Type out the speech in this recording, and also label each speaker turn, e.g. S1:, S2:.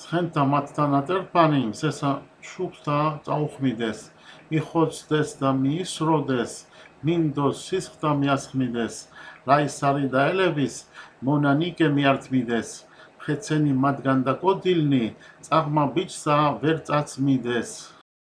S1: Ცხենտա մատտանատեր պանին, սեսա շուկտա ծաուխմիդես, իխոց դա միսրոդես, մինդոս սիսկտա միասխմիդես, լայսարի դայլևիս, մոնանիկե միարտմիդես, խեցենի մատգանդակո դիլնի, ծաղմա բիչսա վերծացմիդես։